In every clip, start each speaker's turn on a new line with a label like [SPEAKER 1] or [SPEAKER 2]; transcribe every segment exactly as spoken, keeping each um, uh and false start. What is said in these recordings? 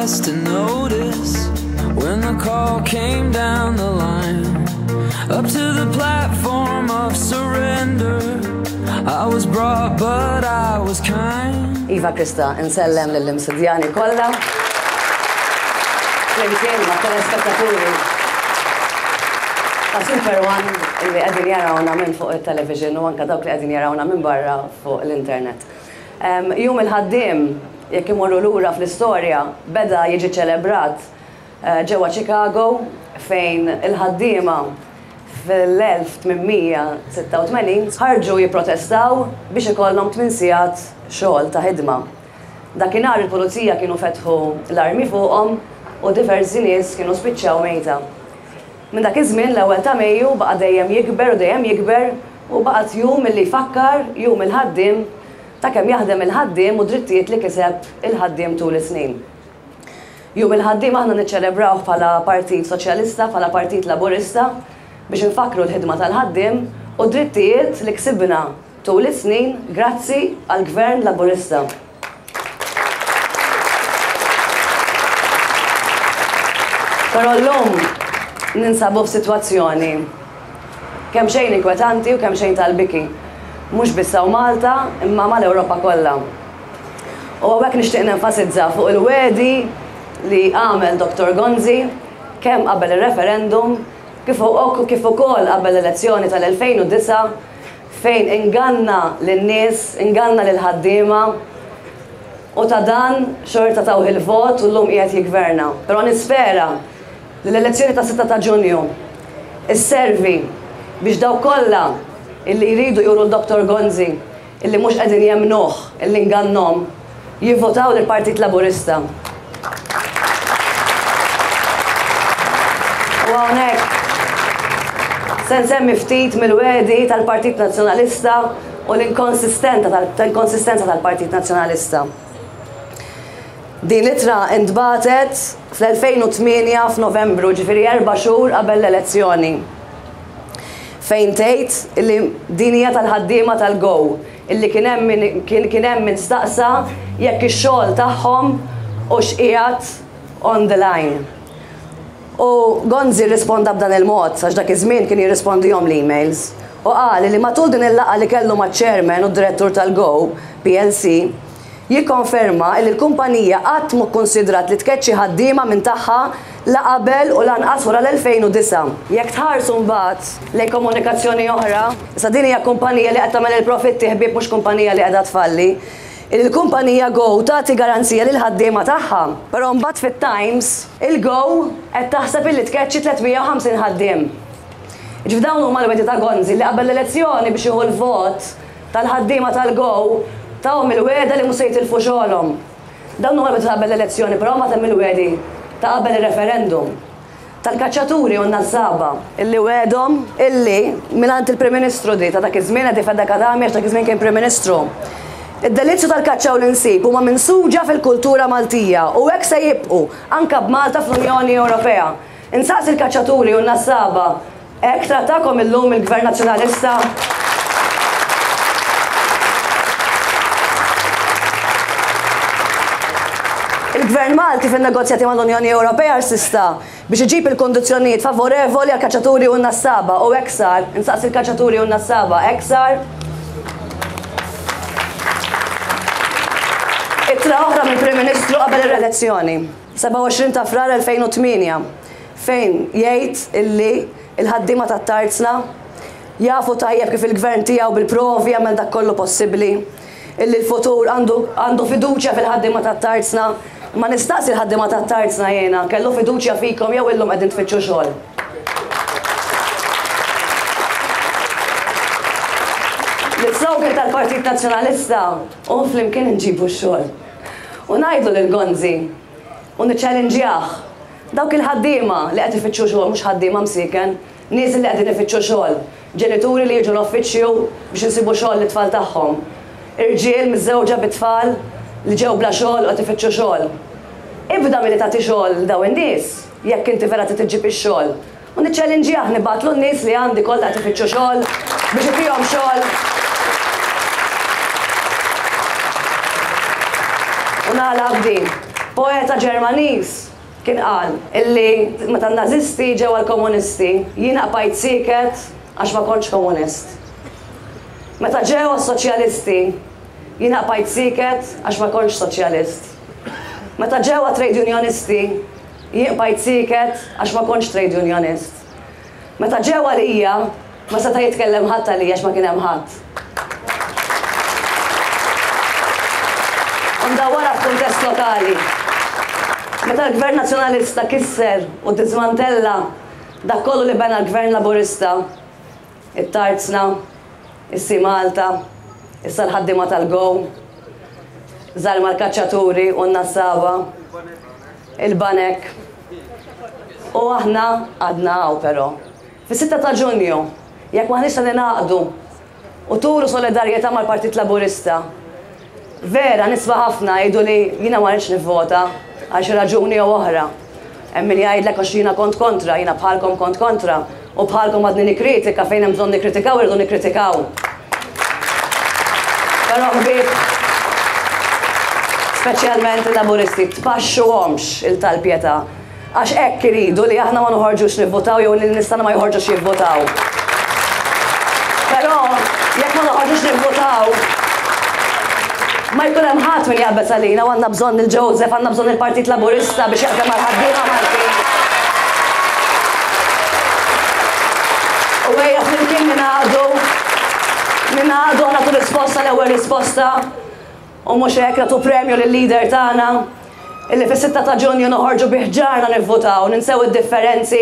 [SPEAKER 1] last to notice when the call came down the line. Up to the platform of surrender, I was brought but I was kind.
[SPEAKER 2] Iva Krista, insellem lill-Imsidjani kollha. Flimkien ma' telespettaturi ta' Super One li qegħdin jarawna minn fuq il-television u anka dawk li qegħdin jarawna minn barra fuq l-internet. Jum il-ħaddiem, jekk imorru lura fl-istorja, beda jiġi ċelebrat ġewwa Chicago fejn il-ħaddiema fl-elf tmien mija sitta u tmenin ħarġu jipprotestaw biex ikollhom tmien sigħat xogħol ta' ħidma. Dakinhar il-pulizija kienu fetħu l-armi fuqhom u diversi nies kienu spiċċaw mejta. Minn dak iż-żmien l-ewwel ta' Mejju baqa' dejjem jikber u dejjem jikber u baqgħet jum illi jfakkar jum il-ħaddiem ta' kemm jaħdem il-ħaddiem u drittijiet li kiseb il-ħaddiem tul is-snin. Jum il-ħaddiem aħna niċċelebrawh bħala Partit Soċjalista, bħala Partit Laburista biex nfakkru l-ħidma tal-ħaddiem u drittijiet li ksibna tul is-snin grazzi għall-Gvern Laburista. Però llum ninsabu f'sitwazzjoni kemm xejn inkwetanti u kemm xejn tal-biki. Mhux biss hawn Malta, imma mal-Ewropa kollha. U hawnhekk nixtieq nenfasizza fuq il-wegħdi li għamel Doktor Gonzi kemm qabel ir-referendum kif u-, kif ukoll qabel l-elezzjoni tal-elfejn u disa' fejn inganna lin-nies, inganna lil-ħaddiema u ta' dan xorta tawh il-vot u llum qiegħed jiggverna. Però nispera li l-elezzjoni ta' sitta ta' Ġunju isservi biex dawk kollha illi jridu juru l-Doktor Gonzi illi mhux qegħdin jemnuh illi ngannhom jivvotaw lill-Partit Laburista. U hawnhekk se nsemmi ftit mill-wegħdi tal-Partit Nazzjonalista u l-inkonsistenza tal-, tal-Partit Nazzjonalista. Din l-ittra intbagħtet fl-elfejn u tmienja f'Novembru, ġifieri erba' xhur qabel l-elezzjoni, fejn tgħid illi din hija tal-ħaddiema tal-Go, illi kien hemm min, kien, kien hemm min staqsa jekk ix-xogħol tagħhom u x'qiegħed on the line. U Gonzi rrisponda b'dan il-mod, għax dak iż-żmien kien jirrispondihom l-emails, u qal li matul din il-laqgħa li kellu maċ-chairman u d-direttur tal-Go, P L C, jikkonferma li l-kumpanija qatt mhu kkunsidrat li tkeċċi ħaddiema minn tagħha la qabel u lanqas wara l-elfejn u disa'. Jekk tħarsu mbagħad lejn komunikazzjoni oħra, issa din hija kumpanija li qed tagħmel il-profitti ħbieb mhux kumpanija li qiegħda tfalli. Il-kumpanija Go tagħti garanzija lil ħaddiema tagħha, però mbagħad fit-Times il-Go qed taħseb illi tkeċċi tliet mija u ħamsin ħaddiem. Ġifieri dawn huma l-wegħdi ta' Gonzi li qabel l-elezzjoni biex jieħu l-vot tal-ħaddiema tal-Go tawhom il-wegħda li mhux se jitilfu xogħolhom. Dawn huma l-wegħdi ta' qabel l-elezzjoni, però ma temm il-wegħdi ta' qabel ir-referendum tal-kaċċaturi u n-nassaba illi wegħdhom illi mingħand il-Prim Ministru di ta' dak iż-żmien Eddie Fenech Adami għax dak iż-żmien kien Prim Ministru. Id-delizzju tal-kaċċa u l-insib huma minsuġa fil-kultura Maltija u hekk se jibqgħu anke b'Malta fl-Unjoni Ewropea. Insaqsi l-kaċċaturi u n-nassaba, hekk trattakom illum il-Gvern Nazzjonalista? Il-Gvern Malti fin-negozjati mal-Unjoni Ewropea rsista biex iġib il-kondizzjonijiet favorevoli għal kaċċaturi u n-nassaba u hekk sar, insaqsi l-kaċċaturi u n-nassaba, hekk sar. Ittra oħra mill-Prim Ministru qabel ir-elezzjoni, sebgħa u għoxrin ta' Frar elfejn u tmienja, fejn jgħid illi il-ħaddiema tat-tarzna jafu tajjeb kif il-gvern tiegħu bil-provi jagħmel dak kollu possibbli, illi l-futur għandu, għandu fiduċja fil-ħaddiema tat-tarzna. Ma nistaqsi l-ħaddiema tat-tarzna jiena, kellu fiduċja fikom jew illum qegħdin tfittxu xogħol. L-slogan tal-Partit Nazzjonalista u flimkien nġibu x-xogħol. U ngħidlu lil Gonzi u niċċellinġjah dawk il-ħaddiema li qed ifittxu xogħol, mhux ħaddiema msiken, nies li qegħdin ifittxu xogħol, ġenituri li jiġu l-uffiċċju biex insibu xogħol lit-tfal tagħhom, irġiel miżżewġa bit-tfal li ġew bla xogħol u qed ifittxu xogħol. Ibda milli tagħti xogħol lil dawn in-nies jekk inti vera trid iġġib ix-xogħol. U niċċellinġjah nibgħatlu n-nies li għandi kollha qed ifittxu xogħol biex itihom xogħol. U nagħlaq b'din. Poeta Ġermaniż kien qal illi meta n-nazisti ġew għall-komunisti, jiena bqajt sieket għax ma kontx komunist. Meta ġew għas-soċjalisti, jiena bqajt sieket għax ma kontx soċjalist. Meta ġew trade unionisti, jien bqajt sieket għax ma kontx trade unionist. Meta ġew għalija, ma seta' jitkellem ħadd għalija għax ma kien hemm ħadd. U ndawwarha f'kuntest lokali. Meta l-Gvern Nazzjonalista kisser u dismantella dak kollu li bena l-Gvern Laburista, it-Tarzna, is-Sea Malta, issa l-ħaddiema tal-Go, żarma l-kaċċaturi u n-nassaba, il-banek. U aħna għadna hawn però. Fis-sitta ta' Ġunju, jekk maħniex se ningħaqdu u turu solidarjetà mal-Partit Laburista, vera nisma' ħafna jgħidu li jiena ma rridx nivvota għal xi raġuni jew oħra. Hemm min jgħidlek għax jiena kont kontra, jiena bħalkom kont kontra, u bħalkom għadni nikkritika fejn hemm bżonn nikkritikaw irridu nikkritikaw. Però ħbieb, speċjalment il-Laburisti, tpaxxuhomx il-tal-pietà, għax hekk iridu li aħna ma noħorġux nivvotaw jew li n-nies tagħna ma joħorġux jivvotaw. Però jekk ma noħorġux nivvotaw, ma jkun hemm ħadd min jaqbeż għalina u għandna bżonn il-Joseph, għandna bżonn il-Partit Laburista biex jaħdem mal-ħaddiema Maltin. U ejja flimkien ningħaqdu, ningħaqdu nagħtu risposta l-ewwel risposta u mhux hekk nagħtu premju lil-leader tagħna illi fis-sitta ta' Ġunju noħorġu bi ħġarna nivvutaw, ninsew id-differenzi,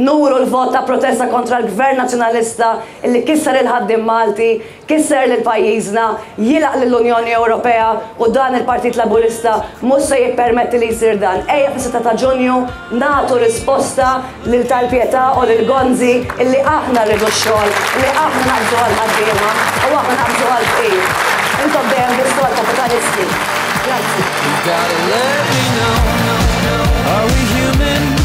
[SPEAKER 2] nuru l-vot ta' protesta kontra l-Gvern Nazzjonalista illi kisser il-ħaddiem Malti, kisser lil pajjiżna, jilaq lill-Unjoni Ewropea u dan il-Partit Laburista mhux se jippermetti li jsir dan. Ejja fis-sitta ta' Ġunju nagħtu risposta lil tal-Pietà u lil Gonzi illi aħna rridu x-xogħol, illi aħna naqbżu għall-ħaddiema u aħna naqbżu għall-fqir. Intom dejjem bistu għall-kapitalisti. Grazzi.
[SPEAKER 1] You gotta let me know. Are we human?